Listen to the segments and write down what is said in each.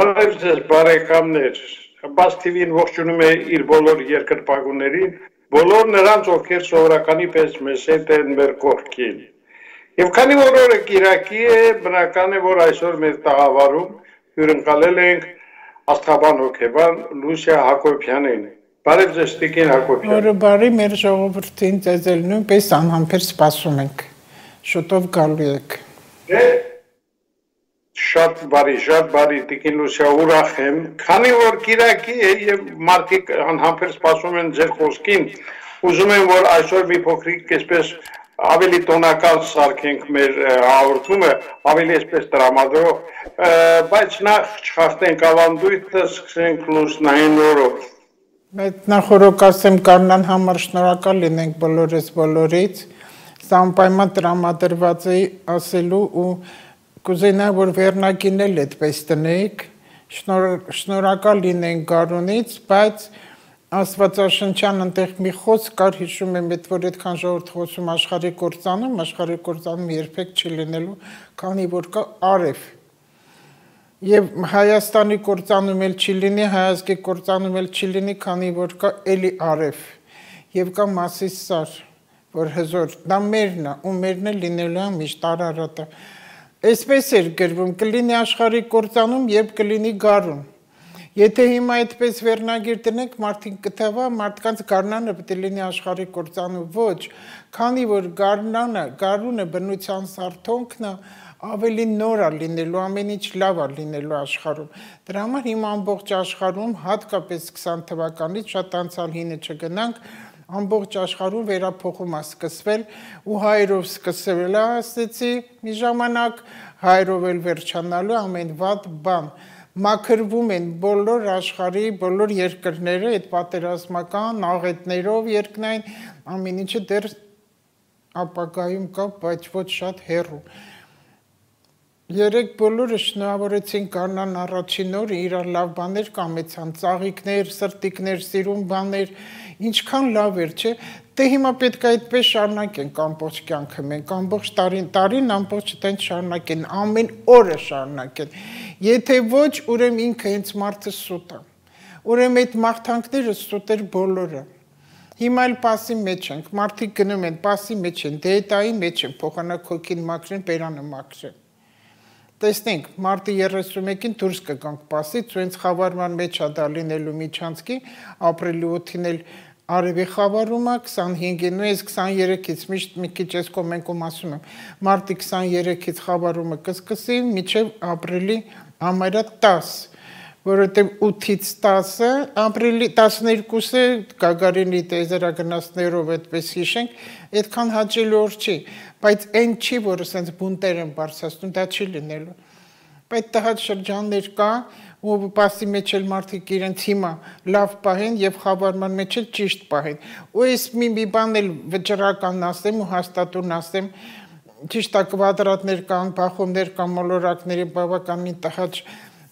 Բարև ձեզ բարեկամներ, Բաց TV-ին ողջունում է իր բոլոր երկրպագուներին, բոլոր նրանց, ովքեր սովորականի պես մեզ հետ են մեր կողքին։ Եվ քանի որ օրը կիրակի է, բնական է, որ այսօր մեր տաղավարում հյուրընկալել ենք աստղաբան հոգեբան Լուսիա Հակոբյանին։ Բարև ձեզ Տիկին Հակոբյան։ Օրը բարի, մեր ժողովրդին ձեզ էլ նույնպես անհամբեր սպասում ենք։ Շուտով գալու եք։ Շատ բարի Տիկին Լուսիա, ուրախ եմ, քանի որ կիրակի է եւ մարդիկ անհամբեր սպասում են ձեր խոսքին, ուզում եմ որ այսօր մի փոքրիկ այսպես ավելի տոնակալ սարքենք մեր հաղորդումը, ավելի այսպես տրամադրող, բայց նախ չխախտենք ավանդույթը, սկսենք լուսնային օրով։ Բայց նախորդ ասեմ կանան համար շնորհակալ լինենք բոլորից, սա անպայման տրամադրված է ասելու ու կուզենա որ վերնակին էլ այդպես տնենք, շնորհակալ լինենք Գարունից, բայց Աստվածաշնչյան այնտեղ մի խոսք կար, հիշում եմ, որ այդքան ժողովուրդ խոսում աշխարհի կործանում երբեք չի լինելու, քանի որ կա արև։ Եվ Հայաստանի կործանում էլ չի լինի, հայազգի կործանում էլ չի լինի, քանի որ կա էլի արև։ Եվ կա Մասիս Սար, որ հզոր, դա մերն է, ու մերն է լինելու է միշտ Արարատը։ Այսպես էր գրվում, կլինի աշխարհի կործանում, երբ կլինի գարուն։ Եթե հիմա այդպես վերնագիր տնենք, մարդիկ կթվա, մարդկանց գարնանը պետք է լինի աշխարհի կործանում, ոչ, քանի որ գարունը բնության սարթոնքն է, ավելի նոր է լինելու, ամեն ինչ լավ է լինելու աշխարհում։ Դրա համար հիմա ամբողջ աշխարհում, հատկապես 20 թվականից, շատ անցյալ հինը չգնանք, ամբողջ աշխարհում վերափոխում է սկսվել ու հայերով սկսվել է, ասեցի մի ժամանակ, հայերով էլ վերջանալու ամեն վատ բան։ Մաքրվում են բոլոր աշխարհի, բոլոր երկրները այդ պատերազմական աղետներով երկնային, ամեն ինչը դեռ ապագայում կա, բայց ոչ շատ հեռու։ Երեք բոլորը շնորհավորեցին կանան առաջին օրը, իրար լավ բաներ կամեցան, ծաղիկներ, սրտիկներ, սիրուն բաներ, ինչքան լավ էր, չէ՞։ Դե հիմա պետք է այդպես շարունակենք ամբողջ կյանքը մենք, ամբողջ տարին ամբողջ տենց շարունակեն, ամեն օրը շարունակեն։ Եթե ոչ, ուրեմն ինքը հենց մարդը սուտ է։ Ուրեմն այդ մաղթանքները սուտ էր բոլորը։ Հիմա էլ պասի մեջ ենք, մարդիկ գնում են, պասի մեջ են, դեետայի մեջ են, փոխանակ հոգին մաքրեն, բերանը մաքրեն։ Տեսնենք, մարտի 31-ին դուրս կգանք պասից, ու հենց խավարման մեջ է դա լինելու միջանցքի, ապրիլի 8-ին էլ արևի խավարումը, 25-ին, ու ես 23-ից միշտ մի քիչ ես կոմենքում ասում եմ, մարտի 23-ից խավարումը կսկսի, մինչև ապրիլի համարյա 10, որովհետև 8-ից 10-ը, ապրիլի 12-ը Գագարինի տեզերագնացներով այդպես հիշենք, այդքան հաճելի օր չի, բայց այն չի, որ ասենց բունտեր են բարձրացնում, դա չի լինելու։ Բայց տհաճ շրջաններ կա, ու պասի մեջ էլ մարդիկ իրենց հիմա լավ պահեն եւ խավարման մեջ էլ ճիշտ պահեն։ Ու ես մի բան էլ վճռական ասեմ ու հաստատուն ասեմ, ճիշտ է կվադրատներ կան, բախումներ կան, մոլորակների բավականին տհաճ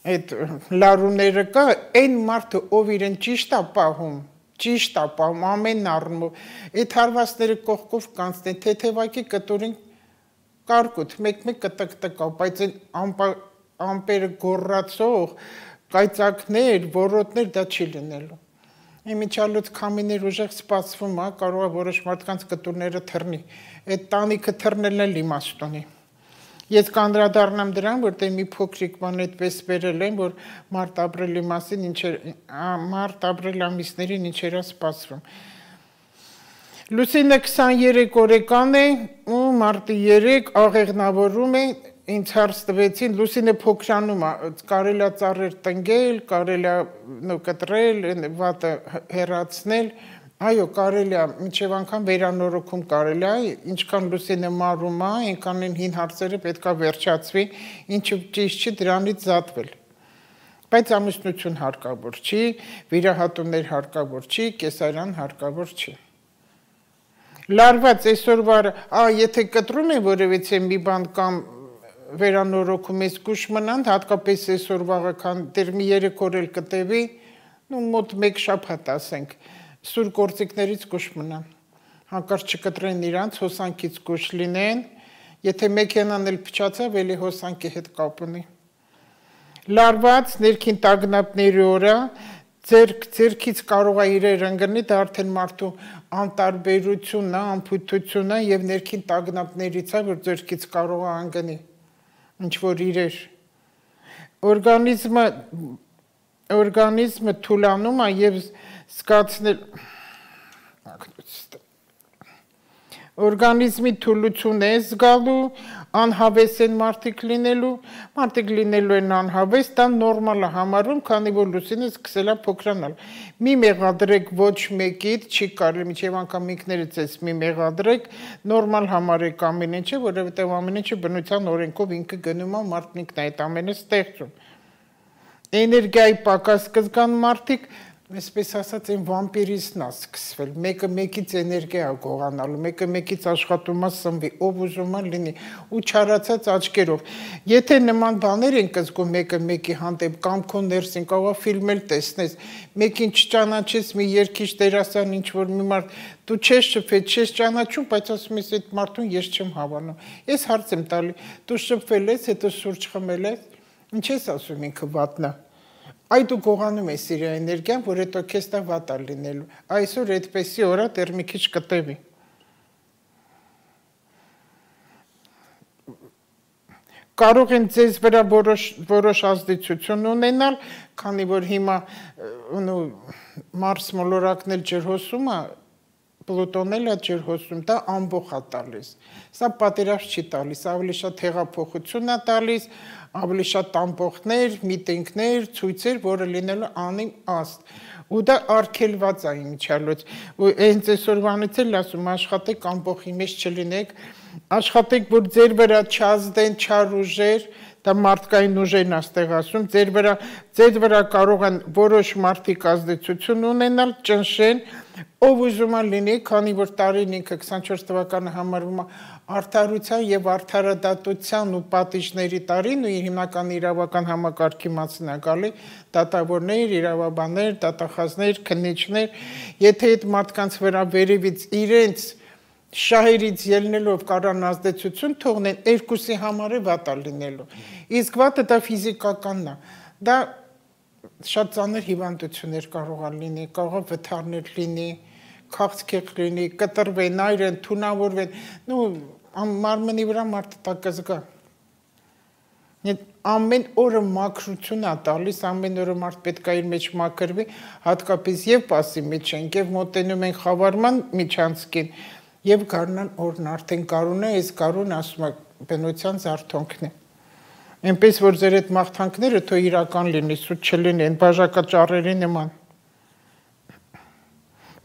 այդ լարումները կա, այն մարդը, ով իրեն ճիշտ է պահում, ամեն առումով, այդ հարվածները կողքով կանցնեն, թեթևակի կտուրին կարկուտ, մեկ կտկտկավ, բայց ամպերը գոռացող, կայծակներ, որոտներ, դա չի լինելու։ Իմիջալուց քամիներ ուժեղ սպասվում է, կարող է որոշ մարդկանց կտուրները թռնի, այդ տանիքը թռնելն էլ իմաստ ունի։ Ես կանդրադառնամ դրան, որտեղ մի փոքրիկ բան այդպես վերել եմ, որ մարտ-ապրիլի մասին մարտ-ապրիլ ամիսներին ինչեր է սպասվում։ Լուսինը 23 օրեկան է ու մարտի 3 աղեղնավորում է, ինձ հարց տվեցին, Լուսինը փոքրանում է, կարելի է ծառեր տնկել, կարելի է կտրել, վատը հեռացնել, այո, կարելի է, մինչև անգամ վերանորոգում կարելի է, ինչքան Լուսինը մարում է, այնքան են հին հարցերը պետք է վերջացվի, ինչը ճիշտ չի դրանից զատվել։ Բայց ամուսնություն հարկավոր չի, վիրահատումներ հարկավոր չի, կեսարյան հարկավոր չի։ Լարված այսօրվա, եթե կտրում է որևիցե մի բան կամ վերանորոգում ես գուշ մնան, հատկապես այսօր վաղական դեր մի 3 օր էլ կտևի, մոտ 1 շաբաթ ասենք, սուր գործիքներից գուշ մնան, հանկարծ չկտրեն իրանց, հոսանքից գուշ լինեն, եթե մեքենան էլ փչացավ, էլի հոսանքի հետ կապ ունի։ լարված ներքին տագնապների օրը ձերքից կարող է իրեր ընկնի, դա արդեն մարդու անտարբերությունն է, անփութությունն է եւ ներքին տագնապներից է, որ ձերքից կարող է ընկնի ինչ որ իրեր օրգանիզմը թուլանում է եւ զգացնել օրգանիզմի թուլություն է զգալու, անհավես են մարդիկ լինելու են անհավես, դա նորմալ է համարվում, քանի որ լուսինը սկսել է փոքրանալ։ Մի մեղադրեք ոչ մեկից, չի կարելի մինչև անգամ ինքներից էս մի մեղադրեք, նորմալ համարեք ամեն ինչը, որովհետև ամեն ինչը բնության օրենքով ինքը գնում է, մարդն ինքն է այդ ամենը ստեղծում։ Էներգիայի պակաս կզգան մարդիկ, այսպես ասած այն վամպիրիզմն է սկսվել, մեկը մեկից էներգիա է գողանալու, մեկը մեկից աշխատում է սնվի, ով ուզում է լինի ու չարացած աչքերով։ Եթե նման բաներ ենք զգում մեկը մեկի հանդեպ կամ քո ներսին կարող է ֆիլմ էլ տեսնես, մեկին չճանաչես, մի երգիչ դերասան ինչ որ մի մարդ դու չես շփվել, չես ճանաչում, բայց ասում ես այդ մարդուն ես չեմ հավանում։ Ես հարց եմ տալի, դու շփվել ես, հետո սուրճ խմել ես, ինչ ես ասում ինքը վատնա։ Այ դու գողանում ես իր էներգիան, որ հետո քեզ դա վատ է լինելու։ Այսօր այդպեսի օրա դեռ մի քիչ կտևի։ Կարող են ձեզ վրա որոշ ազդեցություն ունենալ, քանի որ հիմա Մարս մոլորակն էլ ջրհոսում է, Պլուտոն էլ է ջրհոսում, դա ամբոխ է տալիս։ Սա պատերազմ չի տալիս, ավելի շատ հեղափոխություն է տալիս, ավելի շատ ամբոխներ, միտինգներ, ցույցեր, որը լինելու անիմաստ։ Ու դա արգելված է իմիջիալոց։ Ու հենց այսօրվանից էլ ասում աշխատեք ամբոխի մեջ չլինեք, աշխատեք, որ ձեր վրա չազդեն չար ուժեր, դա մարդկային ուժերն աստեղ ասում, ձեր վրա կարող են որոշ մարդիկ ազդեցություն ունենալ, ճնշեն, ով ուզում է լինի, քանի որ տարին ինքը 24 թվականը համարվում է արդարության եւ արդարադատության ու պատիժների տարին ու հիմնական իրավական համակարգի մասն է գալի, դատավորներ, իրավաբաններ, դատախազներ, քննիչներ, եթե այդ մարդկանց վրա վերևից իրենց շահերից ելնելով կարան ազդեցություն թողնեն, երկուսի համար է վատ է լինելու։ Իսկ վատը դա ֆիզիկականն է։ Դա շատ ծանր հիվանդություններ կարող է լինի, կարող է վթարներ լինի, քաղցկեղ լինի, կտրվեն, այրեն, թունավորվեն, մարմնի վրա մարդը դա կզգա։ Ամեն օրը մաքրություն է տալիս, ամեն օրը մարդ պետք է իր մեջ մաքրվի, հատկապես եւ պասի մեջ ենք, եւ մոտենում են խավարման միջանցքին, եւ գարնան օրն արդեն գարուն է, այս գարուն ասում է բնության զարթոնքն է։ Այնպես որ ձեր այդ մաղթանքները թող իրական լինի, սուտ չլինի, այն բաժակաճառերի նման։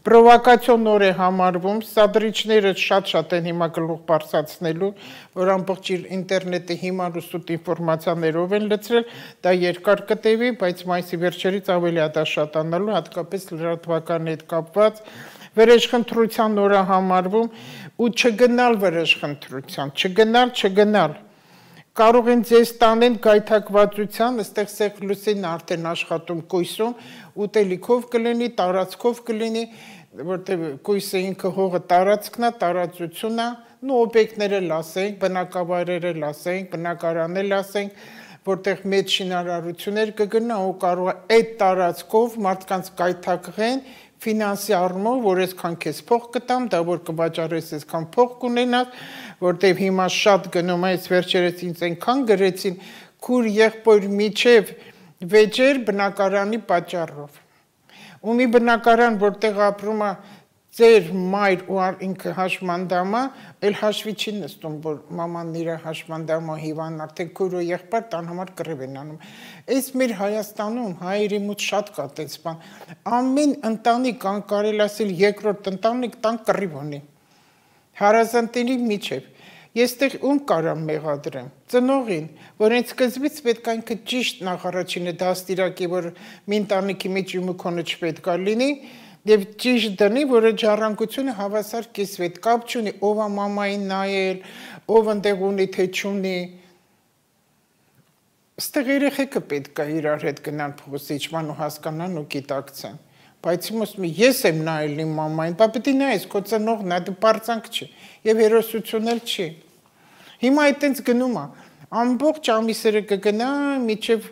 Պրովոկացիոն օր է համարվում, սադրիչները շատ են հիմա գլուխ բարձրացնելու, որ ամբողջ ինտերնետը հիմար ու սուտ ինֆորմացիաներով են լցրել, դա երկար կտևի, բայց մայիսի վերջերից ավելի է դա շատանալու, հատկապես լրատվականի հետ կապված, վերեշխնդրության օրը համարվում ու չգնալ վերեշխնդրության, չգնալ։ Կարող են ձեզ տանեն գայթակվածության, այստեղ սեղ լուսինն արդեն աշխատում կույսում, ուտելիքով կլինի, տարածքով կլինի, որտեղ կույսը ինքը հողը տարածքն է, տարածությունն է, օբյեկտները լասենք, բնակավայրերը լասենք, բնակարաններ լասենք, որտեղ մեծ շինարարություններ կգնա ու կարող է այդ տարածքով մարդկանց գայթակղեն ֆինանսի առումով, որ այսքան քեզ փող կտամ, դա որ կվաճառես այսքան փող կունենաս, որտեղ հիմա շատ գնում է, այս վերջերս ինձ այնքան գրեցին, քուր եղբոր միջև վեճեր բնակարանի պատճառով։ Ու մի բնակարան, որտեղ ապրում է ձեր մայր ու ինքը հաշմանդամա, էլ հաշվի չի նստում, որ մաման իր հաշմանդամա հիվան, արդեն քույր ու եղբայր տան համար կռիվ են անում։ Այս մեր Հայաստանում հայերի մոտ շատ կա տես բան։ Ամեն ընտանիք, կարելի ասել երկրորդ ընտանիք տան կռիվ ունի։ Հարազատների միջև։ Ես տեղ ում կարամ մեղադրեմ, ծնողին, որ հենց սկզբից պետք է ինքը ճիշտ նախարարչինը դաստիարակի, որ մի ընտանիքի մեջ իմուքոնը չպետք է լինի, եւ ճիշտ դնի, որ այդ ժառանգությունը հավասար կիսվի, այդ կապ չունի, ով է մամային նայել, ով ընդեղ ունի, թե չունի։ Ստեղ երեխեքը պետք է իրար հետ գնան փոխիչման ու հասկանան ու գիտակցեն։ Բայց ես եմ նայել իմ մամային, բա պետք է նայես, քո ծնողն է, դու պարծանք չի, եւ հերոսություն էլ չի։ Հիմա այդտենց գնում է, ամբողջ ամիսերը կգնա, միջև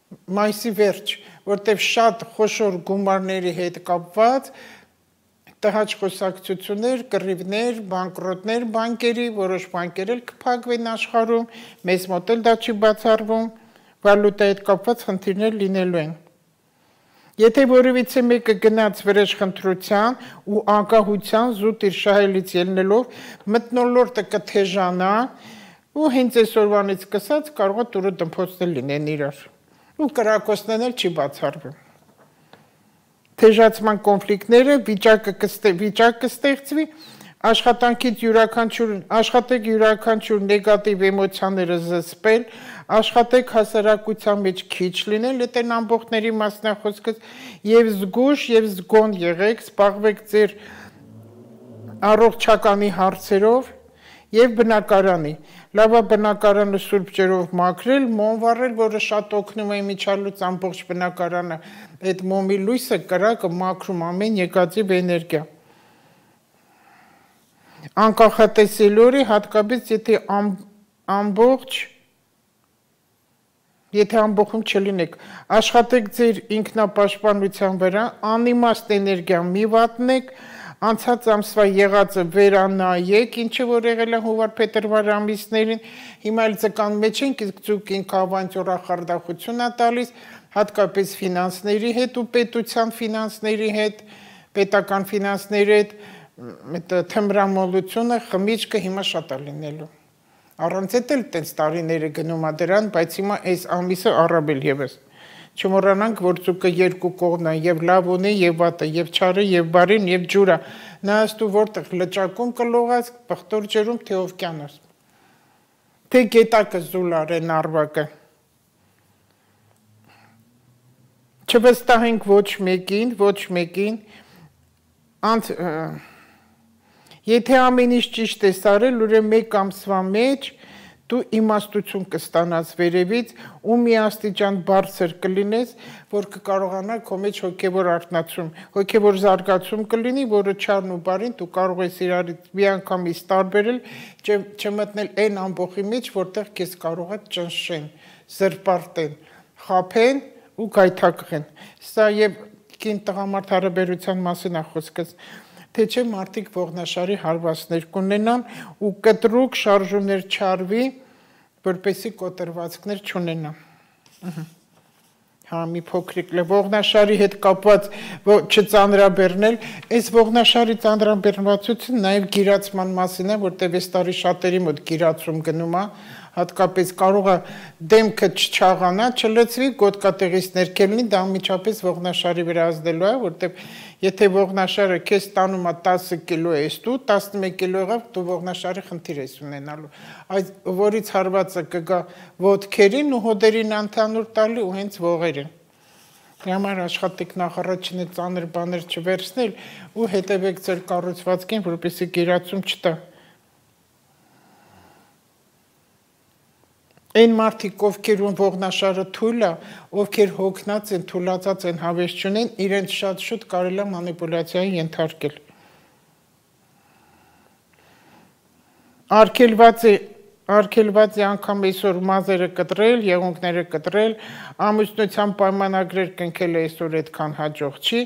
մայիսի վերջ, որտեղ շատ խոշոր գումարների հետ կապված տհաճ խոսակցություններ, կռիվներ, բանկրոտներ բանկերի, որոշ բանկեր էլ կփակվեն աշխարհում, մեզ մոտ էլ դա չի բացառվում, վալուտայի հետ կապված խնդիրներ լինելու են։ Եթե որևիցե մեկը գնաց վրեժխնդրության ու անկախության զուտ իր շահելից ելնելով մթնոլորտը կթեժանա ու հենց այսօրվանից սկսած կարող է տուրը դմփոցներ լինեն իրար ու կրակոցներն էլ չի բացառվում։ Թեժացման կոնֆլիկտները վիճակ կստեղծվի, աշխատանքից աշխատեք յուրաքանչյուր նեգատիվ էմոցիաները զսպել, աշխատեք հասարակության մեջ քիչ լինել, դա ամբողջների մասնախոսքս եւ զգուշ եւ զգոն եղեք, զբաղվեք ձեր առողջականի հարցերով եւ բնակարանի։ Լավա բնակարանը սուրբ ջերով մաքրել, մոմ վառել, որը շատ օգնում է միջալուց ամբողջ բնակարանը այդ մոմի լույսը կրակը մաքրում ամեն եկածիվ էներգիա։ Անկախատեսելորի հատկապես եթե ամբողջում չլինեք, աշխատեք ձեր ինքնապաշտպանության վրա, անիմաստ էներգիա մի վատնեք, անցած ամսվա եղածը վերանայեք, ինչը որ եղել է հունվար-փետրվար ամիսներին, հիմա էլ ձկան մեջ ենք, իսկ ձուկին քավանջորախարդախություն է տալիս, հատկապես ֆինանսների հետ ու պետության ֆինանսների հետ, պետական ֆինանսների հետ թմրամոլությունը, խմիչքը հիմա շատ է լինելու։ Առանց էդ էլ տենց տարիները գնում է դրան, բայց հիմա այս ամիսը առավել ևս։ Չմոռանանք, որ ձուկը երկու կողմն է, եւ լավ ունի, եւ վատը, եւ չարը, եւ բարին, եւ ջուրը։ Նայաստու որտեղ լճակում կլողած, պղտոր ջերում, թե օվկիանոս։ Թե գետակը զուլարեն արվակը։ Չվստահենք ոչ մեկին, եթե ամեն ինչ ճիշտ ես արել, ուրեմն մեկ ամսվա մեջ դու իմաստություն կստանաս վերևից ու մի աստիճան բարձր կլինես, որ կկարողանա քո մեջ հոգևոր արթնացում, հոգևոր զարգացում կլինի, որը չարն ու բարին դու կարող ես իրարից միանգամից տարբերել, չմտնել այն ամբողջի մեջ, որտեղ քեզ կարող է ճնշեն, զրպարտեն, խաբեն ու գայթակղեն։ Սա եւ կին տղամարդ հարաբերության մասին է խոսքս։ Թե չէ մարդիկ ողնաշարի հարվածներ կունենան ու կտրուկ շարժումներ չարվի, որպեսզի կոտրվածքներ չունենան։ Հա, մի փոքրիկ ողնաշարի հետ կապված չծանրաբեռնել, այս ողնաշարի ծանրաբեռնվածությունը նաև գիրացման մասին է, որտեղ այս տարի շատերի մոտ գիրացում գնում է, հատկապես կարող է դեմքը չչաղանա, չլցվի, գոտկատեղից ներքել լինի, դա անմիջապես ողնաշարի վրա ազդելու է, որտեղ եթե ողնաշարը քեզ տանում է 10 կիլո ես դու, 11 կիլո եղավ, դու ողնաշարի խնդիր ես ունենալու։ Այդ որից հարվածը կգա ոտքերին ու հոդերին ընդհանուր տալի ու հենց ողերին։ Համար աշխատեք նախ առաջինը ծանր բաներ չվերցնել ու հետևեք ձեր կառուցվածքին, որպեսզի գերացում չտա։ Այն մարդիկ, ովքերում ողնաշարը թույլ է, ովքեր հոգնած են, թուլացած են, հավես չունեն, իրենց շատ շուտ կարելի է մանիպուլյացիայի ենթարկել։ Արգելված է անգամ այսօր մազերը կտրել, եղունգները կտրել, ամուսնության պայմանագրեր կնքել այսօր այդքան հաջող չի,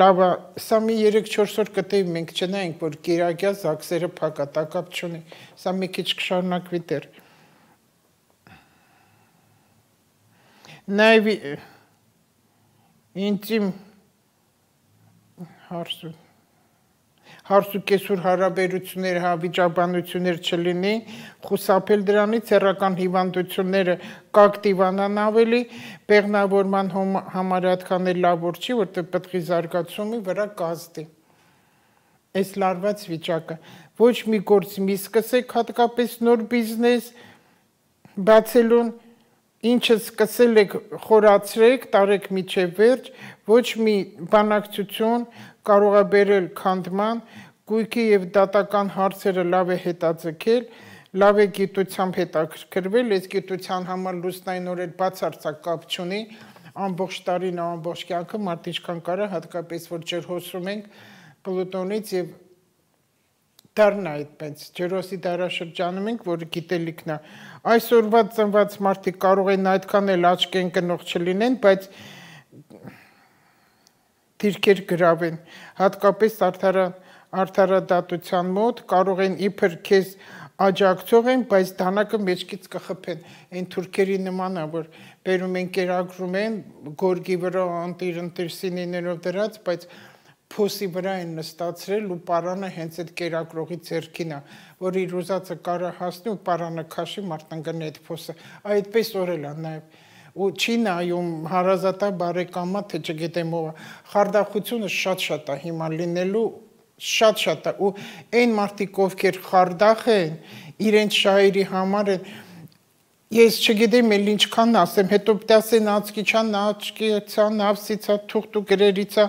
լավ է, սա մի 3-4 օր կտեւ մենք չնայենք, որ գերագյա զաքսերը փակատակապ չունի, սա մի քիչ կշարունակվի դեռ։ Նաև ինտիմ հարսուկեսուր հարաբերություններ, հավիճաբանություններ չլինի, խուսափել դրանից, հեռական հիվանդությունները կակտիվանան ավելի, բեղմնավորման համար այդքան էլ լավ որ չի, որտեղ պտղի զարգացումի վրա կազդի։ Այս լարված վիճակը, ոչ մի գործ մի սկսեք, հատկապես նոր բիզնես բացելուն, ինչը սկսել եք խորացրեք, տարեք միջև վերջ, ոչ մի բանակցություն կարող է բերել քանդման, գույքի եւ դատական հարցերը լավ է հետաձգել, լավ է գիտությամբ հետաքրքրվել, այս գիտության համար լուսնայինորեն բացարձակ կապ չունի, ամբողջ տարին, ամբողջ կյանքը մարդ ինչքան կարա, հատկապես որ ջրհոսում ենք Պլուտոնից եւ դառն է այդպես ջրոսի դարաշրջանում ենք, որը գիտելիքն է։ Այսօրվա ծնված մարդիկ կարող են այդքան էլ աչք ընկնող չլինեն, բայց դիրքեր գրավեն, հատկապես արդարադատության մոտ կարող են իբր քեզ աջակցող են, բայց դանակը մեջքից կխփեն, այն թուրքերի նման է, որ բերում են կերակրում են, գորգի վրա ընտիր սինիներով դրած, բայց փոսի վրա են նստացրել ու պարանը հենց այդ կերակրողի ձեռքին է, որ իր ուզածը կարա հասնի ու պարանը քաշի մարտնգնի այդ փոսը, այդպես օրել է նաև ու չի նայում հարազատա բարեկամա, թե չգիտեմ ով, խարդախությունը շատ է հիմա լինելու շատ է ու այն մարդիկ ովքեր խարդախ են իրենց շահերի համար են ես չգիտեմ էլ ինչքան ասեմ հետո պտասեն աչքիչան աչքիցա նավսիցա թուղթու գրերիցա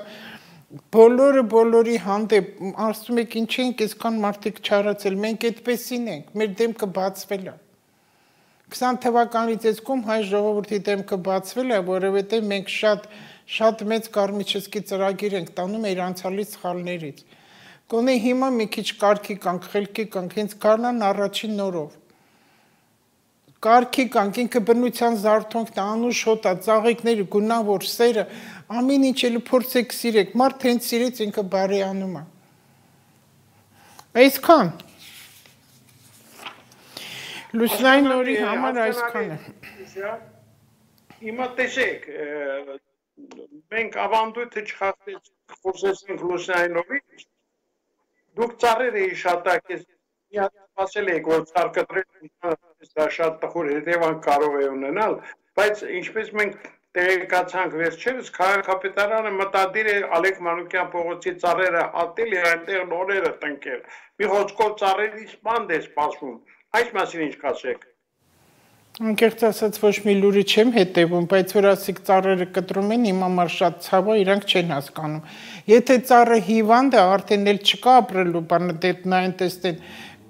բոլորի հանդեպ ասում եք ինչ ենք այսքան մարդիկ չարացել մենք այդպեսին ենք մեր դեմքը բացվել է 20 թվականից այսքում հայ ժողովրդի դեմքը բացվել է որովհետև մենք շատ մեծ կարմիչսկի ծրագիր ենք տանում իր անցյալի սխալներից Գոնե հիմա մի քիչ կարգի կանք, խելքի կանք, հենց գարնան առաջին նորով։ Կարգի կանք, ինքը բնության զարթոնքն անուշ հոտա, ծաղիկները, գունավոր սերը, ամեն ինչ էլ փորձեք սիրեք, մարդ հենց սիրեց ինքը բարեանում է։ Այսքան։ Լուսնային նորի համար այսքան է։ Հիմա տեսեք, մենք ավանդույթը չխոսեցինք լուսնային նորից, Դուք ծառերը իշատակ ես ասել եք, որ ծառ կտրել դա շատ տխուր հետևանք կարող է ունենալ, բայց ինչպես մենք տեղեկացանք վերջերս, քաղաքապետարանը մտադիր է Ալեք Մանուկյան փողոցի ծառերը հատել եւ այնտեղ նորերը տնկել։ Մի խոսքով ծառերի սպանդ է սպասվում։ Այս մասին ինչ կասեք։ Անկեղծ ասած ոչ մի լուրի չեմ հետևում, բայց որ ասիկ ծառերը կտրում են, իմ համար շատ ցավ է, իրանք չեն հասկանում։ Եթե ծառը հիվանդ է, արդեն էլ չկա ապրելու բանը, դեպնային տեսնեն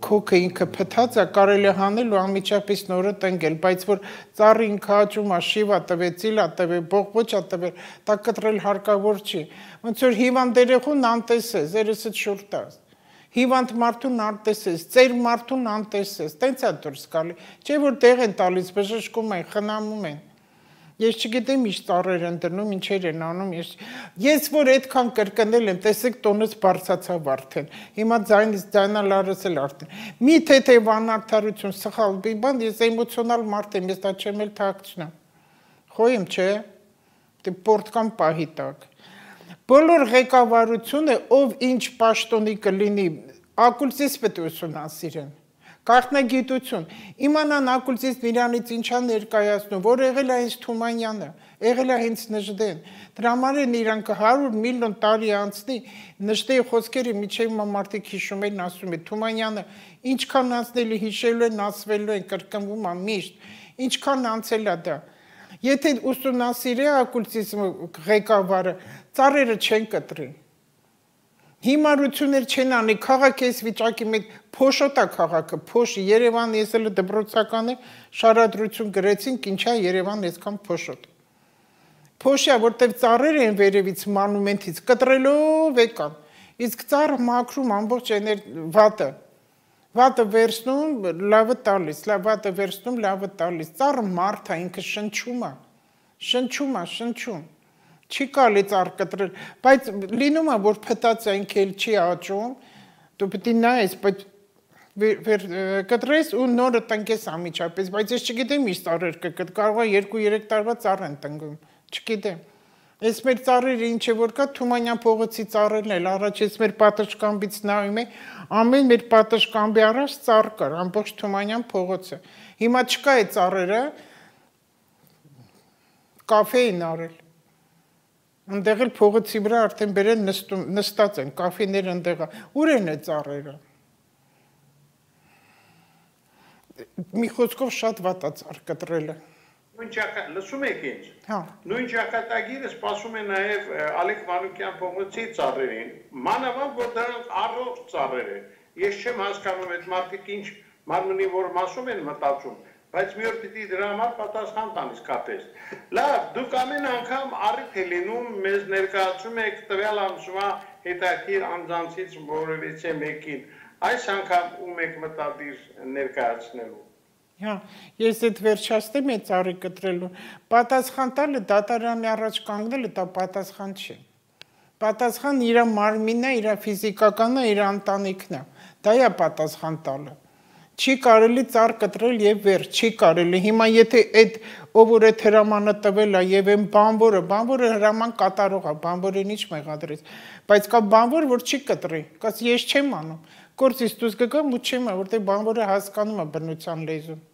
քոքը ինքը փթած է, կարելի է հանել ու անմիջապես նորը տնկել, բայց որ ծառը ինքը աճում է, շիվա տվե, ծիլա տվե, բողբոջ է տվե, դա կտրել հարկավոր չի։ Ոնց որ հիվանդ երեխուն անտեսես, երեսդ շուռ տաս։ Հիվանդ մարդուն անտեսես, ծեր մարդուն անտեսես, տենց է դուրս գալի, չէ որ տեղ են տալիս, բժշկում են, խնամում են։ Ես չգիտեմ ինչ ծառեր են դնում, ինչեր են անում, ես որ այդքան կրկնել եմ, տեսեք տոնս բարձացավ արդեն, հիմա ձայնալարս էլ արդեն։ Մի թեթև անարդարություն, սխալ բան, ես էմոցիոնալ մարդ եմ, ես դա չեմ էլ թաքցնեմ։ Խոյեմ, չէ, դե պորտկան պահի տակ։ Բոլոր ղեկավարությունը, ով ինչ պաշտոնի կլինի, ակուլսիս պետք է ուսումնասիրեն, գաղտնագիտություն, իմանան ակուլսիսն իրանից ինչա ներկայացնում, որ եղել է հենց Թումանյանը, եղել է հենց Նժդեն, դրա համար են իրանք 100 միլիոն տարի անցնի, Նժդեի խոսքերը միջև մարդիկ հիշում են, ասում են, Թումանյանը ինչքան անցնելի հիշելու են, ասվելու են, կրկնվում է միշտ, ինչքան անցել է դա Եթե ուսումնասիրի ակուլսիսմը ղեկավարը, ծառերը չեն կտրի։ Հիմարություններ չեն անի, քաղաք ես վիճակի մեջ փոշոտա քաղաքը, փոշի Երևան ես էլ դպրոցական է, շարադրություն գրեցինք, ինչա Երևան այսքան փոշոտ։ Փոշիա, որտեղ ծառեր են վերևից մանումենտից կտրելով եկան։ Իսկ ծառը մաքրում ամբողջ վատը։ Վատը վերցնում, լավը տալիս, վատը վերցնում, լավը տալիս, ծառը մարդ է, ինքը շնչում է, շնչում, չի կարելի ծառ կտրել, բայց լինում է, որ փտած է, ինքը էլ չի աճում, դու պետք է նայես, բայց կտրես ու նորը տնկես ամիջապես, բայց ես չգիտեմ ինչ ծառեր կկտ, կարող է 2-3 տարվա ծառ են տնկում, չգիտեմ, Ես մեր ծառերը ինչ է որ կա, Թումանյան փողոցի ծառերն էլ, առաջ ես մեր պատշգամբից նայում եմ, ամեն մեր պատշգամբի առաջ ծառ կար, ամբողջ Թումանյան փողոցը։ Հիմա չկա է ծառերը, կաֆե են արել։ Ընդեղ էլ փողոցի վրա արդեն բերեն նստած են, կաֆեներ ընդեղ, ուր են է ծառերը։ Մի խոսքով շատ վատ է ծառ կտրելը։ Լսում եք ինձ, նույն ճակատագիրը սպասում է նաև Ալեք Մանուկյան փողոցի ծառերին, մանավանդ որ դրանք առողջ ծառեր են, ես չեմ հասկանում այդ մարդիկ ինչ մարմնի որ մասում են մտածում, բայց մի օր պիտի դրա համար պատասխան տան իսկապես։ Լավ, դուք ամեն անգամ առիթ է լինում, մեզ ներկայացում եք տվյալ ամսվա հետաքրքիր անձանցից որևիցե մեկին, Այս անգամ ում եք մտադիր ներկայացնելու։ Հա, ես այդ վերջացնեմ այդ ծառի կտրելուն։ Պատասխան տալը դատարանի առաջ կանգնելը դա պատասխան չի։ Պատասխան իր մարմինն է, իր ֆիզիկականն է, իր ընտանիքն է։ Դա է պատասխան տալը։ Չի կարելի ծառ կտրել եւ վերջ, չի կարելի։ Հիմա եթե այդ ով որ այդ հրամանը տվել է եւ այն բանվորը հրաման կատարող է, բանվորին ինչ մեղադրեց, բայց կա բանվոր, որ չի կտրի, կաս ես չեմ անում, գործից դուրս կգամ ու չեմ, որտեղ բանվորը հասկանում է բնության լեզուն։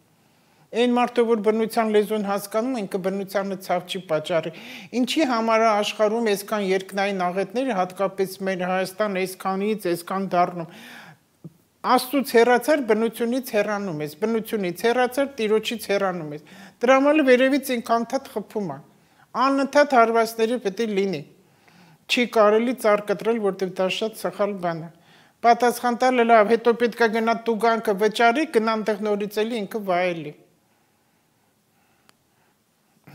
Այն մարդը, որ բնության լեզուն հասկանում, ինքը բնությանը ցավ չի պատճառի։ Ինչի համար է աշխարհում այսքան երկնային աղետները, հատկապես մեր Հայաստան այսքանից, այսքան դառնում։ Աստծուց հեռացար, բնությունից հեռանում ես, բնությունից հեռացար, Տիրոջից հեռանում ես։ Դրա համար վերևից ինքանթադ խփում է։ Անընդհատ հարվածները պետք է լինի։ Չի կարելի ծառ կտրել, որտեղ դա շատ սխալ բան է։ Պատասխան տալը լավ, հետո պետք է գնա տուգանքը վճարի, գնան տեղ նորից էլի ինքը վայելի։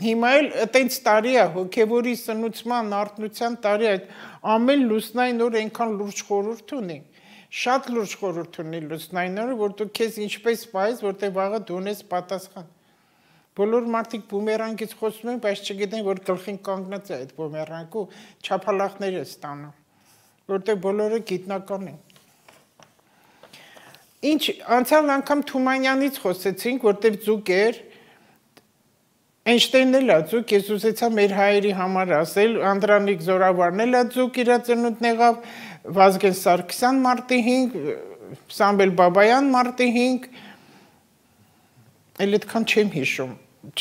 Հիմա էլ այտենց տարի է, հոգևորի սնուցման, արթնության տարի է, ամեն լուսնային օր այնքան լուրջ խորհուրդ ունի։ Շատ լուրջ խորհուրդ ունի լուսնային օրը, որ դու քեզ ինչպես պայես, որտեղ վաղը դու ունես պատասխան։ Բոլոր մարդիկ բումերանգից խոսում են, բայց չգիտեն, որ գլխին կանգնած է այդ բումերանգը, չափալախներ է ստանում, որտեղ բոլորը գիտնական են։ Ինչ անցյալ անգամ Թումանյանից խոսեցինք, որտեղ ձուկ էր, Էյնշտեյնն էլ է ձուկ, ես ուզեցա մեր հայերի համար ասել, Անդրանիկ Զորավարն էլ է ձուկ, իր ծնունդն եղավ, Վազգեն Սարգսյան մարտի 5, Սամվել Բաբայան մարտի 5, էլ այդքան չեմ հիշում,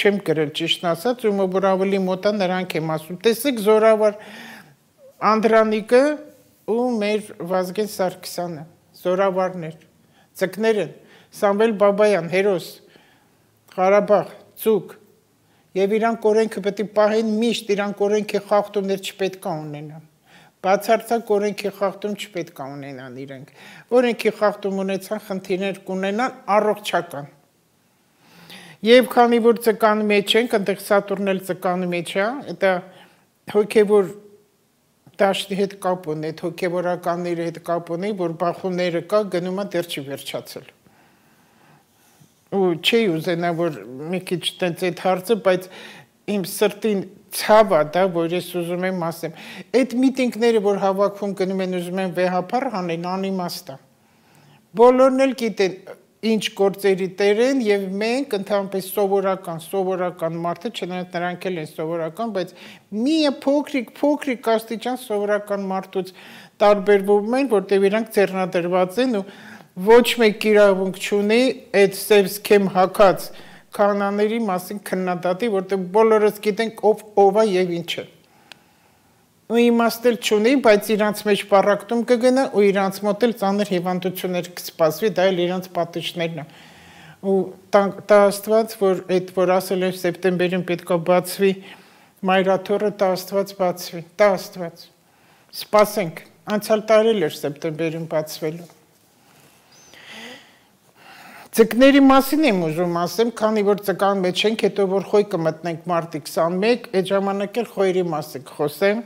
չեմ գրել ճիշտն ասած, ում որ ավելի մոտ է նրանք եմ ասում, տեսեք Զորավար Անդրանիկը ու մեր Վազգեն Սարգսյանը, Զորավարներ, ձկներ են, Սամվել Բաբայան, հերոս, Ղարաբաղ, ձուկ, Եվ իրանք օրենքը պետք է պահեն միշտ, իրանք օրենքի խախտումներ չպետք է ունենան։ Բացարձակ օրենքի խախտում չպետք է ունենան իրենք։ Օրենքի խախտում ունեցան, խնդիրներ կունենան առողջական։ Եվ քանի որ ծկանի մեջ ենք, այնտեղ Սատուրնն էլ ծկանի մեջ է, դա հոգևոր դաշտի հետ կապ ունի, այդ հոգևորականների հետ կապ ունի, որ բախումները կա, գնում է դեռ չի վերջացել։ Ու չի ուզենա, որ մի քիչ տենց այդ հարցը, բայց իմ սրտին ցավ է դա, որ ես ուզում եմ ասեմ։ Այդ միտինգները, որ հավաքվում գնում են ուզում են վեհապար հանեն, անիմաստ է։ Բոլորն էլ գիտեն ինչ գործերի տեր են եւ մենք ընդհանրապես սովորական մարդը, չնայած նրանք էլ են սովորական, բայց մի փոքրիկ աստիճան սովորական մարդուց տարբերվում են, որտեղ իրանք ձեռնադրված են ու ոչ մեկ իրավունք չունի այդ սև սքեմ հակած քահանաների մասին քննադատի, որտեղ բոլորս գիտենք ով է եւ ինչ է։ Ու իմաստել չունի, բայց իրանց մեջ պարակտում կգնա ու իրանց մոտ էլ ծանր հիվանդություններ կսպասվի, դա էլ իրանց պատիժներն է։ Ու տա Աստված, որ այդ որ ասել են սեպտեմբերին պետք է բացվի մայրաթոռը, տա Աստված բացվի, տա Աստված։ Սպասենք, անցյալ տարի էր սեպտեմբերին բացվելու։ Ձկների մասին եմ ուզում ասեմ, քանի որ ծկան մեջ ենք, հետո որ խոյ կմտնենք մարտի 21, այդ ժամանակ էլ խոյերի մասին խոսեմ։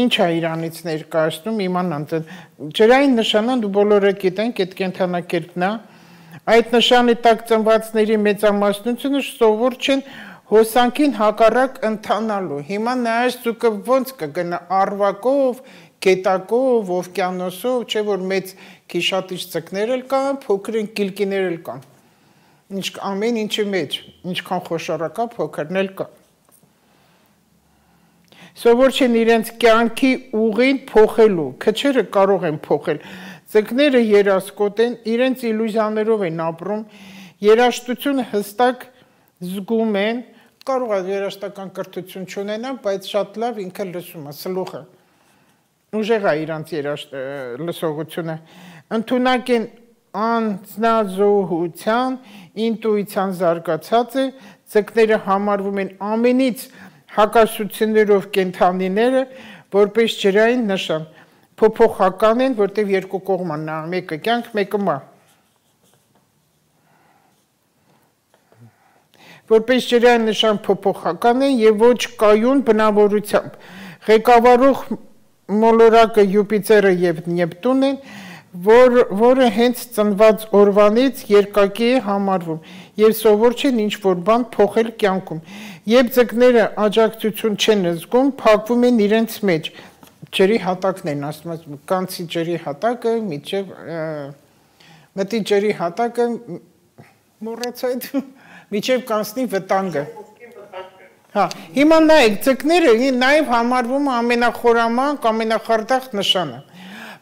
Ինչ է իրանից ներկայացնում, իմանան, ջրային նշանը դու բոլորը գիտենք, այդ կենդանակերպն է, այդ նշանի տակ ծնվածների մեծամասնությունը սովոր չեն հոսանքին հակառակ ընթանալու, հիմա նայած ձուկը ոնց կգնա արվակով, գետակով, օվկիանոսով, չէ որ մեծ քիշատիչ ձկներ էլ կան, փոքրին կիլկիներ էլ կան, ամեն ինչի մեջ, ինչքան խոշորակա փոքրն էլ կա։ Սովոր չեն իրենց կյանքի ուղին փոխելու, քչերը կարող են փոխել, ձկները երասկոտ են, իրենց իլյուզիաներով են ապրում, երաժշտությունը հստակ զգում են, կարող է երաժշտական կրթություն չունենան, բայց շատ լավ ինքը լսում է, սլուխը, ուժեղ է իրանց լսողությունը, ընդունակ են անձնազոհության, ինտուիցիան զարգացած է, ձկները համարվում են ամենից հակասություններով կենդանիները, որպես ջրային նշան, փոփոխական են, որտեղ երկու կողման նա, մեկը կյանք, մեկը մահ։ Որպես ջրային նշան փոփոխական են եւ ոչ կայուն բնավորությամբ։ Ղեկավարող մոլորակը Յուպիտերը եւ Նեպտուն են, որը հենց ծնված օրվանից երկակի է համարվում եւ սովոր չեն ինչ-որ բան փոխել կյանքում։ Երբ ձկները աջակցություն չեն զգում, փակվում են իրենց մեջ։ Ջրի հատակն են ասում, կանցի ջրի հատակը միջև մտի ջրի հատակը մոռացա այդ միջև կանցնի վտանգը։ Հա, հիմա նայեք, ձկները նաեւ համարվում է ամենախորամանկ, ամենախարդախ նշանը։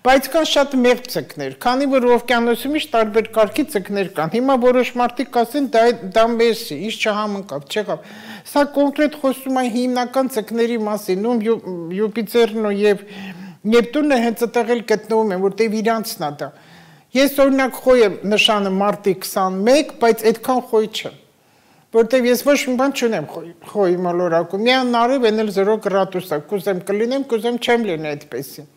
Բայց կան շատ մեղմ ձկներ, քանի որ օվկիանոսում իշ տարբեր կարգի ձկներ կան։ Հիմա որոշ մարդիկ կասեն դա մեզ է, ինչ չհամընկավ, չեղավ։ Սա կոնկրետ խոսում է հիմնական ձկների մասին, ում Յուպիտերն եւ Նեպտունը հենց այդտեղ էլ գտնվում են, որտեղ իրանցն է դա։ Ես օրինակ խոյ եմ նշանը մարտի 21, բայց այդքան խոյ չեմ։ Որտեղ ես ոչ մի բան չունեմ խոյի մոլորակում։ Միան նարև են էլ 0 գրադուս է, կուզեմ կլինեմ, կուզեմ չեմ լինի այդպեսին։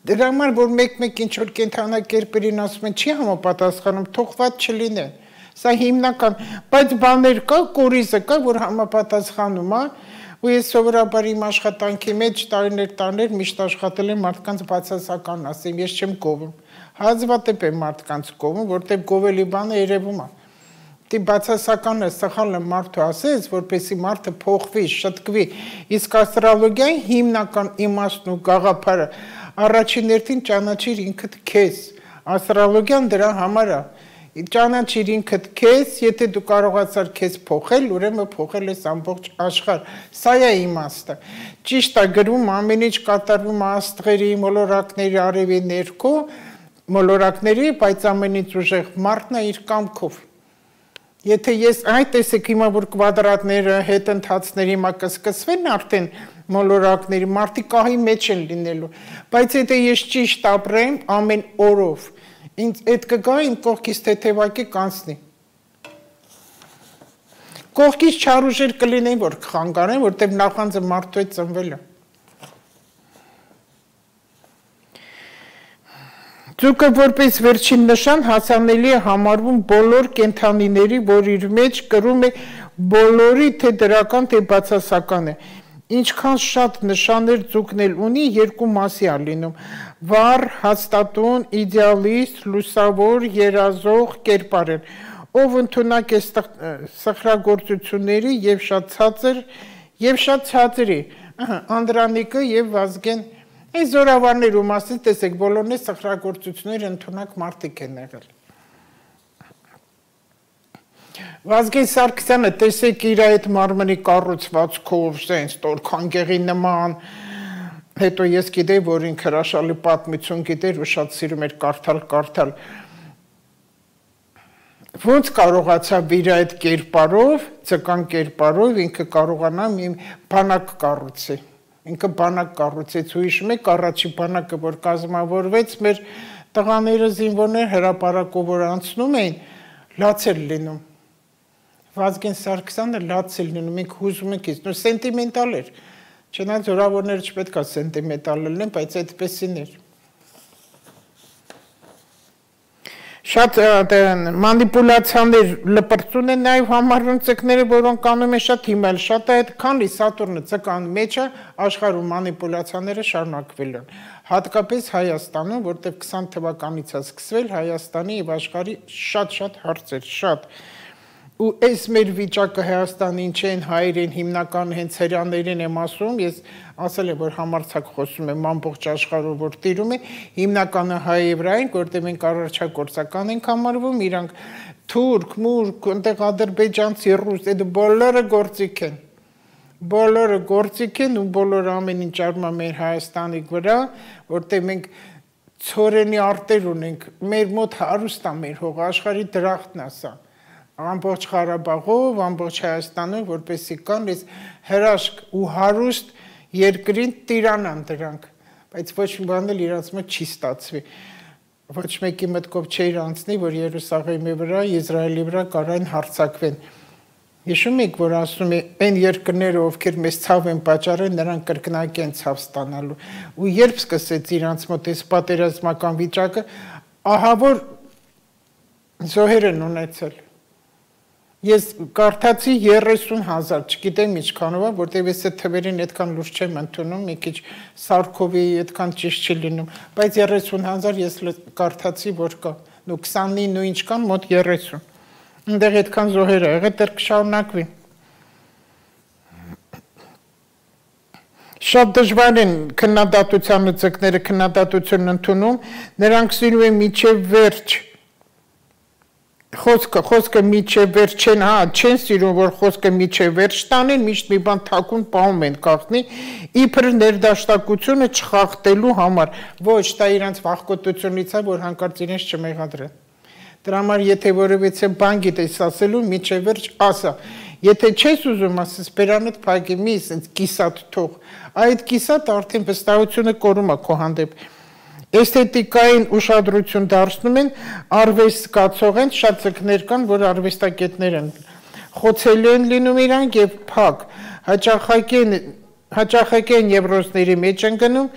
Դրա համար որ մեկ-մեկ ինչ-որ կենթանակերպերին ասում են չի համապատասխանում, թողված չլինեն։ Սա հիմնական, բայց բաներ կա, կորիզը կա, որ համապատասխանում է, ու ես սովորաբար իմ աշխատանքի մեջ տարիներ միշտ աշխատել եմ մարդկանց բացասական ասեմ, ես չեմ գովում։ Հազվադեպ եմ մարդկանց գովում, որտեղ գովելի բանը երևում է։ Դի բացասականը սխալը մարդու ասես, որպեսի մարդը փոխվի, շտկվի, իսկ աստրոլոգիայի հիմնական իմաստն ու գաղափարը առաջին հերթին ճանաչիր ինքդ քեզ, աստրոլոգիան դրա համար է, ճանաչիր ինքդ քեզ, եթե դու կարողացար քեզ փոխել, ուրեմն փոխել ես ամբողջ աշխարհ, սա է իմաստը, ճիշտ է գրում ամեն ինչ կատարվում աստղերի, մոլորակների արևի ներքո, մոլորակների, բայց ամենից ուժեղ մարդն է իր կամքով, եթե ես այդ տեսեք հիմա որ կվադրատները հետընթացների հիմա կսկսվեն արդեն մոլորակների մարդիկ ահի մեջ են լինելու, բայց եթե ես ճիշտ ապրեմ ամեն օրով, ինձ այդ կգա իմ կողքից թեթևակի կանցնի։ Կողքից չարուժեր կլինեն, որ կխանգարեն, որտեղ նախանձը մարդու հետ ծնվել է։ Ձուկը որպես վերջին նշան հասանելի է համարվում բոլոր կենդանիների, որ իր մեջ կրում է բոլորի թե դրական, թե բացասական է։ Ինչքան շատ նշաններ ձուկն էլ ունի, երկու մասի է լինում։ Վառ, հաստատուն, իդեալիստ, լուսավոր, երազող, կերպարեր, ով ընդունակ է սխրագործությունների եւ շատ ցածր է, Անդրանիկը եւ Վազգեն Այս զորավարներու մասին տեսեք, բոլորն է սխրագործություններ ընդունակ մարդիկ են եղել։ Վազգեն Սարգսյանը տեսեք իր այդ մարմնի կառուցվածքով, սենց տորքան գեղի նման, հետո ես գիտեի, որ ինք հրաշալի պատմություն գիտեր ու շատ սիրում էր կարդալ։ Ոնց կարողացավ իր այդ կերպարով, ցկան կերպարով ինքը կարողանա մի բանակ կառուցի։ Ինքը բանակ կառուցեց ու հիշում եք առաջի բանակը, որ կազմավորվեց, մեր տղաները զինվորներ հրապարակով որ անցնում էին, լաց էր լինում։ Վազգեն Սարգսյանը լաց էր լինում, մենք հուզում ենք ինձ, սենտիմենտալ էր։ Չնայած զորավարները չպետք է սենտիմենտալ լինեն, բայց այդպեսին էր։ Շատ մանիպուլացիաներ լպրծուն են նաև համարվում ձկները, որոնք անում են շատ հիմալ, շատ է այդ քանի Սատուրնը ձկան մեջ է, աշխարհում մանիպուլացիաները շարունակվել են։ Հատկապես Հայաստանում, որտեղ 20 թվականից է սկսվել Հայաստանի եւ աշխարհի շատ հարցեր, շատ։ Ու այս մեր վիճակը Հայաստանի ինչ են հայերեն հիմնական հենց հրյաներեն եմ ասում, ես ասել եմ, որ համարձակ խոսում եմ ամբողջ աշխարհով, որ տիրում է, հիմնականը հայ եվրային, որտեղ մենք առաջագործական ենք համարվում, իրանք թուրք, մուրք, այնտեղ ադրբեջանցի, ռուս, այդ բոլորը գործիք են։ Բոլորը գործիք են ու բոլորը ամեն ինչ արվում է մեր Հայաստանի վրա, որտեղ մենք ցորենի արտեր ունենք, մեր մոտ հարուստ է մեր հող, աշխարհի դրախտն է սա։ Ամբողջ Ղարաբաղով, ամբողջ Հայաստանում, որպեսզի կան այս հրաշք ու հարուստ երկրին տիրանան դրանք, բայց ոչ մի բան էլ իրանց մոտ չի ստացվի։ Ոչ մեկի մտքով չէր անցնի, որ Երուսաղեմի վրա, Իսրայելի վրա կարան հարձակվեն։ Հիշում եք, որ ասում է այն երկրները, ովքեր մեզ ցավ են պատճառել, նրանք կրկնակի են ցավ ստանալու։ Ու երբ սկսեց իրանց մոտ այս պատերազմական վիճակը, ահա որ զոհեր են ունեցել։ Ես կարդացի 30,000, չգիտեմ ինչքանով է, որտեղ ես այդ թվերին այդքան լուրջ չեմ ընդունում, մի քիչ Սարքովի այդքան ճիշտ չի լինում, բայց 30,000 ես կարդացի, որ կա, ու 29 ու ինչքան մոտ 30։ Այնտեղ այդքան զոհեր ա եղել, դեռ կշարունակվի։ Շատ դժվար են քննադատության լծակները քննադատություն ընդունում, նրանք սիրում են միջև վերջ խոսքը միջև վերջ չեն սիրում, որ խոսքը միջև վերջ տանեն, միշտ մի բան թաքուն պահում են գաղտնի, իբր ներդաշնակությունը չխախտելու համար, ոչ, դա իրանց վախկոտությունից է, որ հանկարծ իրենց չմեղադրեն։ Դրա համար եթե որևիցե բան գիտես ասելու, միջև վերջ ասա։ Եթե չես ուզում ասես, բերանդ փակի մի ասես կիսատ թող, այդ կիսատ արդեն վստահությունը կորում է քո հանդեպ։ Էսթետիկային ուշադրություն դարձնում են, արվեստ զգացող են, շատ ձկներ կան, որ արվեստագետներ են։ Խոցելի են լինում իրանք եւ փակ, հաճախակեն եվրոզների մեջ են գնում,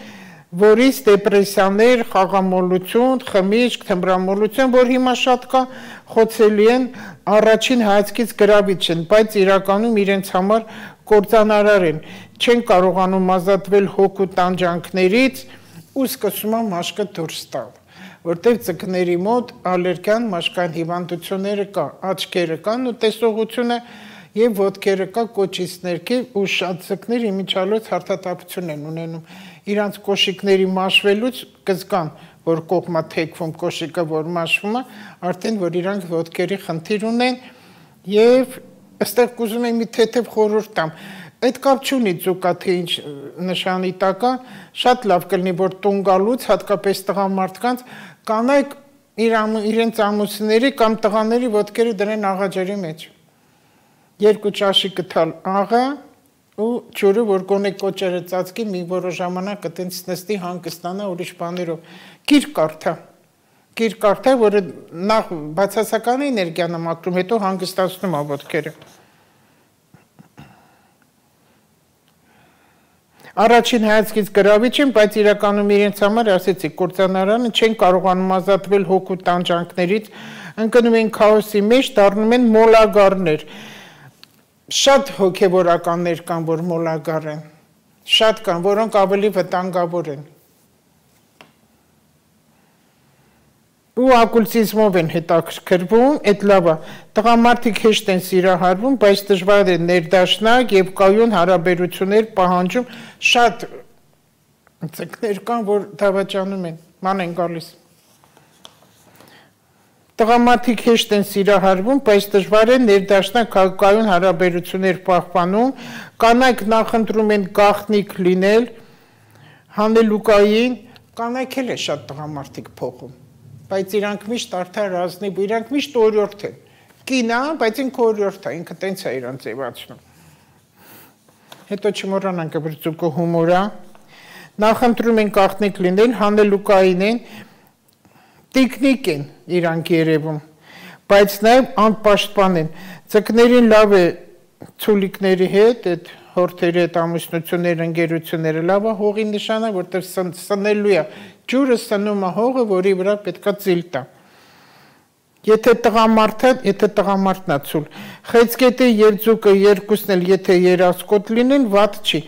որից դեպրեսիաներ, խաղամոլություն, խմիչք, թմրամոլություն, որ հիմա շատ կա, խոցելի են, առաջին հայացքից գրավիչ են, բայց իրականում իրենց համար կործանարար են, չեն կարողանում ազատվել հոգու տանջանքներից ու սկսում են մաշկը դուրս տալ, որտեղ ձկների մոտ ալերգիան, մաշկային հիվանդությունները կա, աչքերը կան ու տեսողությունը եւ ոտքերը կա կոճից ներքև ու շատ ձկներ իմիջիալոց հարթատափություն են ունենում։ Իրանց կոշիկների մաշվելուց կզգան, որ կողմա թեքվում կոշիկը, որ մաշվում է, արդեն որ իրանք ոտքերի խնդիր ունեն եւ այստեղ կուզում եմ մի թեթև խորհուրդ տամ։ Այդ կապ չունի ձուկա թե ինչ նշանի տակա, շատ լավ կլինի, որ տուն գալուց, հատկապես տղամարդկանց, կանայք իրենց ամուսինների կամ տղաների ոտքերը դրեն աղաջերի մեջ։ 2 ճաշի կթալ աղա ու ջուրը, որ գոնե կոճերը ծածկի, մի որոշ ժամանակ այտենց նստի հանգստանա ուրիշ բաներով։ Գիր կարդա, որը նախ բացասական էներգիան է մաքրում, հետո հանգստացնում է ոտքերը։ Առաջին հայացքից գրավիչ են, բայց իրականում իրենց համար, ասեցի, կործանարանը չեն կարողանում ազատվել հոգու տանջանքներից, ընկնում են քաոսի մեջ, դառնում են մոլագարներ։ Շատ հոգևորականներ կան, որ մոլագար են, շատ կան, որոնք ավելի վտանգավոր են։ Ու ակուլսիզմով են հետաքրքրվում, այդ լավ է, տղամարդիկ հեշտ են սիրահարվում, բայց դժվար է ներդաշնակ եւ կայուն հարաբերություններ պահանջում, շատ ձկներ կան, որ դավաճանում են, ման են գալիս։ Տղամարդիկ հեշտ են սիրահարվում, բայց դժվար է ներդաշնակ կայուն հարաբերություններ պահպանում, կանայք նախընտրում են գաղտնիք լինել, հանելուկային, կանայք էլ է շատ տղամարդիկ փոխում, բայց իրանք միշտ արդար ազնիվ, իրանք միշտ օրիորդ են, կին է, բայց ինքը օրիորդ է, ինքը տենց է իրան ձևացնում։ Հետո չմոռանանք, որ ձուկը հումոր է, նախընտրում են գաղտնիք լինել, հանելուկային են, տիկնիկ են իրանք երևում, բայց նաև անպաշտպան են, ձկներին լավ է ցուլիկների հետ, այդ հորթերի հետ ամուսնությունները, ընկերությունները լավ է հողի նշանը, որտեղ սնելու է, ջուրը սնում է հողը, որի վրա պետքա ծիլ տա։ Եթե տղամարդն է ցուլ, խեցգետը եւ ձուկը երկուսն էլ եթե երասկոտ լինեն, վատ չի։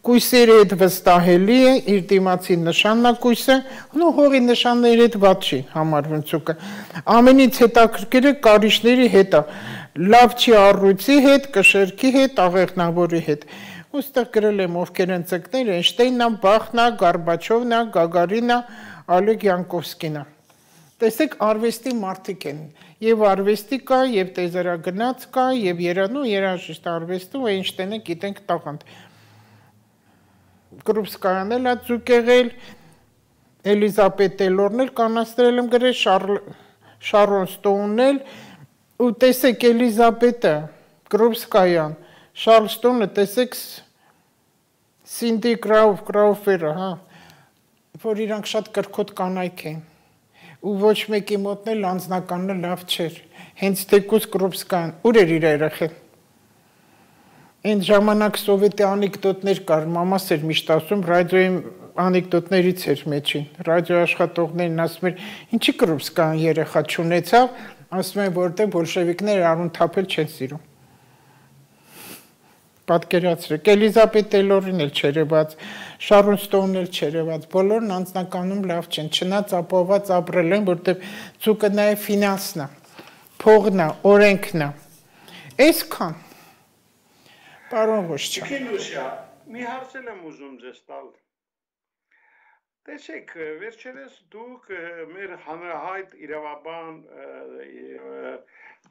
Կույսերի հետ վստահելի է, իր դիմացի նշաննակույսը, ու հողի նշանների հետ վատ չի համարվում ձուկը։ Ամենից հետաքրքիրը կարիճների հետ է, լավ չի առույցի հետ, կշերքի հետ, աղեղնավորի հետ։ Ոստեղ գրել եմ ովքեր են ձկները, Էյնշտեյնն է, Բախն է, Գորբաչովն է, Գագարինն է, Օլեգ Յանկովսկին է։ Տեսեք, արվեստի մարդիկ են, եւ արվեստի կա, եւ տեզերագնաց կա, եւ երաժիշտ արվեստում Էյնշտեյնը գիտենք տաղանդ։ Կրուպսկայան էլ է ձուկ եղել, Էլիզաբետ Տեյլորն էլ կանաստրել եմ գրել, Շարոն Ստոունն էլ, ու տեսեք Էլիզաբետը, Կրուպսկայան, Շարլ Ստոնը, տեսեք Սինդի Կրաուֆերը, որ իրանք շատ կրկոտ կանայք են, ու ոչ մեկի մոտն էլ անձնականն լավ չէր, հենց թեկուզ Կրուպսկայան, ուր էր իր երեխեն։ Այն ժամանակ սովետի անեկդոտներ կար, մամաս էր միշտ ասում, ռադիոյի անեկդոտներից էր մեջին, ռադիո աշխատողներն ասում էր, ինչի Կրուպսկայան երեխա չունեցավ, ասում են, որտեղ բոլշևիկները արուն թափել չեն սիրում։ Պատկերացրեք, Էլիզաբեթ Տեյլորին էլ չերևաց, Շարոն Ստոունն էլ չերևաց, բոլորն անձնականում լավ չեն, չնայած ապահովված ապրել են, որտեղ ցուկը նաև ֆինանսն է, փողն է, օրենքն է։ Այսքան։ Պարոն Ղոշչյան։ Քինուսյա, մի հարց եմ ուզում ձեզ տալ։ Տեսեք, վերջերս դուք մեր հանրահայտ իրավաբան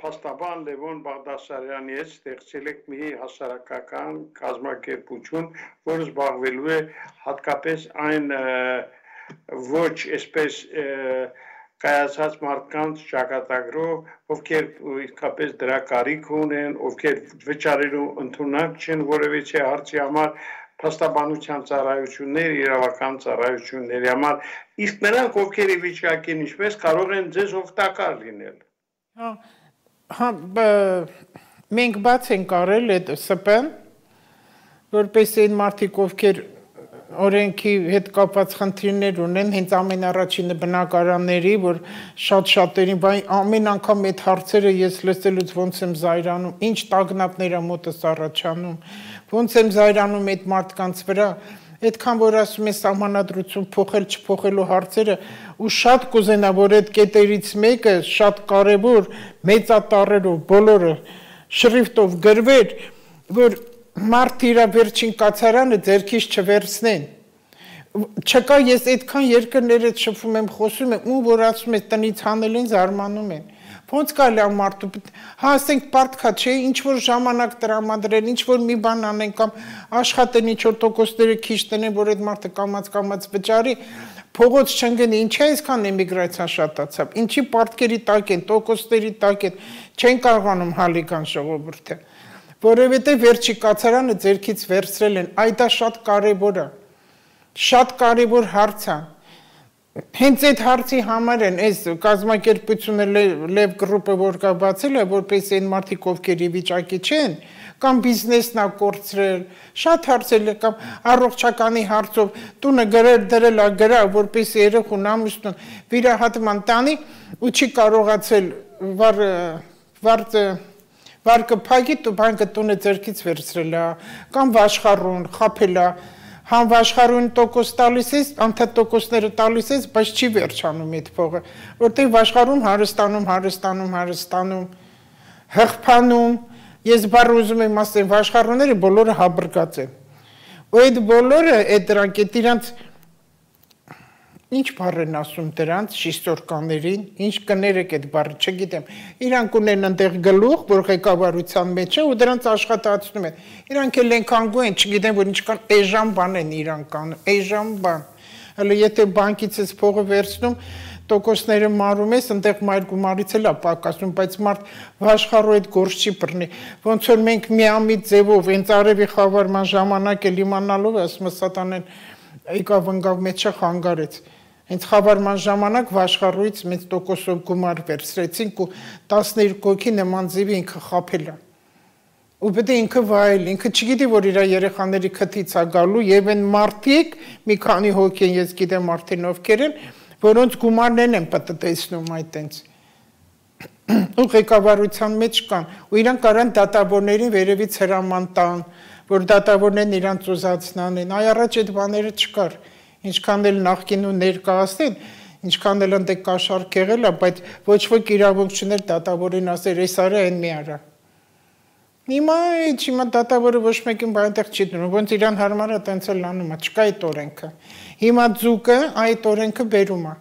փաստաբան Լևոն Բաղդասարյանի հետ ստեղծել եք մի հասարակական կազմակերպություն, որը զբաղվելու է հատկապես այն ոչ այսպես կայացած մարդկանց ճակատագրով, ովքեր իսկապես դրա կարիք ունեն, ովքեր վճարելու ընդունակ չեն որևիցե հարցի համար, փաստաբանության ծառայություններ, իրավական ծառայությունների համար, իսկ նրանք ովքեր ի վիճակի են, ինչպես կարող են ձեզ օգտակար լինել։ Մենք բաց ենք արել այդ ՍՊ-ն, որպես այն մարդիկ, ովքեր օրենքի հետ կապված խնդիրներ ունեն, հենց ամենառաջինը բնակարանների, որ շատ-շատերին, ամեն անգամ այդ հարցերը ես լսելուց ոնց եմ զայրանում, ինչ տագնապներ մոտս առաջանում, ոնց եմ զայրանում այդ մարդկանց վրա, այդքան որ ասում են սահմանադրություն փոխել չփոխելու հարցերը, ու շատ կուզենա, որ այդ կետերից մեկը շատ կարևոր մեծատառերով բոլորը շրիֆտով գրվեր, որ մարդ իր վերջին կացարանը ձեռքից չվերցնեն։ Չկա, ես այդքան երկրներից շփվում եմ, խոսում եմ, ում որ ասում է տնից հանել են, զարմանում են։ Ոնց կարելի է մարդու, հա ասենք պարտքա չէ, ինչ որ ժամանակ տրամադրել, ինչ որ մի բան անեն կամ աշխատեն ինչ որ տոկոսները քիչ տնեն, որ այդ մարդը կամաց վճարի, փողոց չընկնի, ինչի այսքան էմիգրացիան շատացավ, ինչի պարտքերի տակ են, տոկոսների տակ են, չեն կարողանում հալիկան ժողովուրդը, որովհետև վերջի կացարանը ձեռքից վերցրել են, այ դա շատ կարևոր է, շատ կարևոր հարց է։ Հենց այդ հարցի համար են այս կազմակերպությունը Լև գրուպը որ կա բացել է, որպես այն մարդիկ ովքեր ի վիճակի չեն, կամ բիզնեսն է կորցրել, շատ հարցեր կամ առողջականի հարցով տունը դրել է գրա, որպես երեխուն ամուսնուն վիրահատման տանի ու չի կարողացել վարկը փակի, բանկը տունը ձեռքից վերցրել է, կամ վաշխառուն, խաբել է, համ վաշխառուն տոկոս տալիս ես, անդադ տոկոսները տալիս ես, բայց չի վերջանում այդ փողը, որտեղ վաշխառուն հարստանում, հղփանում, ես բառ ուզում եմ ասեմ, վաշխառունները բոլորը հաբրկած են, ու այդ բոլորը, այդ դրանք, այդ իրանց, ինչ բառ են ասում դրանց, շիստորկաներին, ինչ կներեք այդ բառը, չգիտեմ, իրանք ունեն այնտեղ գլուխ, որ ղեկավարության մեջ է ու դրանց աշխատացնում են, իրանք էլ են կանգու են, չգիտեմ, որ ինչքան էժան բան են իրանք անում, էժան բան, հələ եթե բանկից ես փողը վերցնում, տոկոսները մարում ես, այնտեղ մայր գումարից էլ է պակասում, բայց մարդ վաշխառու այդ գործ չի բռնի, ոնց որ մենք միամիտ ձևով, հենց արևի խավարման ժամանակ էլ իմանալով, ասում սատանեն եկավ ընկավ մեջը խանգարեց, հենց խավարման ժամանակ վաշխառույց մեծ տոկոսով գումար վերցրեցինք ու 12 հոգի նման ձևի ինքը խաբել է։ Ու պետք է ինքը վայել, ինքը չգիտի, որ իր երեխաների քթից է գալու եւ այն մարդիկ, մի քանի հոգի են, ես գիտեմ արդեն ովքեր են, որոնց գումարներն են պատտեցնում այդտենց։ Ու ղեկավարության մեջ կան, ու իրանք կարան դատավորներին վերևից հրաման տան, որ դատավորներն իրանց ուզածնան են, այ առաջ այդ բաները չկար, ինչքան էլ նախկին ու ներկայացնեն, ինչքան էլ ընդ կաշառք եղել է, բայց ոչ ոք իրավունք չուներ դատավորին ասել, այս արա այն մի արա։ Հիմա դատավորը ոչ մեկին այնտեղ չի դնում, ոնց իրան հարմար է տենց էլ անում է, չկա այդ օրենքը։ Հիմա ձուկը այդ օրենքը բերում է։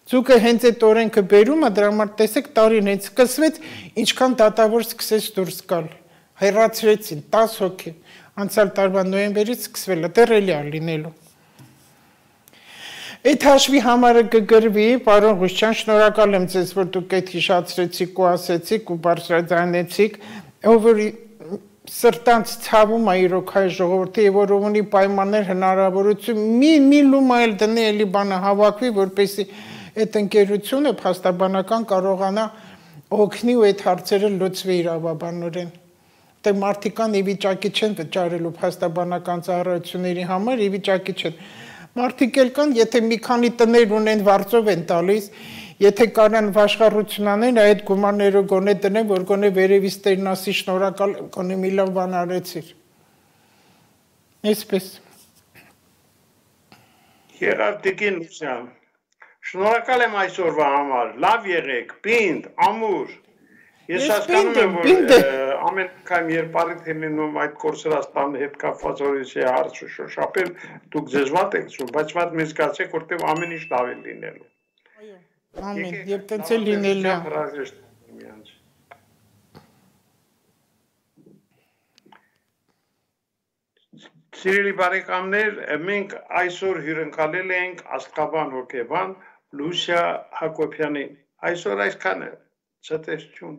Ձուկը հենց այդ օրենքը բերում է, դրա համար տեսեք տարին հենց սկսվեց, ինչքան դատավոր սկսեց դուրս գալ։ Հեռացրեցին 10 հոգի։ Անցյալ տարվա նոյեմբերից սկսվել է, դեռ էլի է լինելու։ Այդ հաշվի համարը կգրվի, պարոն Ղուշչյան, շնորհակալ եմ ձեզ, որ դուք այդ հիշացրեցիք ու ասեցիք ու բարձրաձայնեցիք, ով որ սրտանց ցավում է իրոք հայ ժողովրդի, եւ որ ունի պայմաններ հնարավորություն մի լումա էլ դնի էլի բանը հավաքվի, որպեսզի այդ ընկերությունը փաստաբանական կարողանա օգնի ու այդ հարցերը լուծվի իրավաբանորեն։ Դե մարդիկան ի վիճակի չեն վճարելու փաստաբանական ծառայությունների համար, ի վիճակի չեն։ Մարդիկ էլ կան, եթե մի քանի տներ ունեն վարձով են տալիս, Եթե կարան վաշխառություն անեն, այդ գումարները գոնե տնեն, որ գոնե վերևից տերն ասի շնորհակալ, գոնե մի լավ բան արեցիր։ Այսպես։ Եղավ Տիկին Լուսյան, շնորհակալ եմ այսօրվա համար, լավ եղեք, պինդ, ամուր։ Ես հասկանում եմ, որ ամեն անգամ երբ առիթ է լինում այդ Կորսերաստանի հետ կապված օրենսի հարցը շոշափել, դուք ձեզ վատ եք զգում, բայց վատ մեզ զգացեք, որտեղ ամեն ինչ լավ է լինելու։ Այո, ամեն, եւ տենց է լինելու է։ Սիրելի բարեկամներ, մենք այսօր հյուրընկալել ենք աստղաբան հոգեբան Լուսիա Հակոբյանին։ Այսօր այսքանը, ցտեսություն։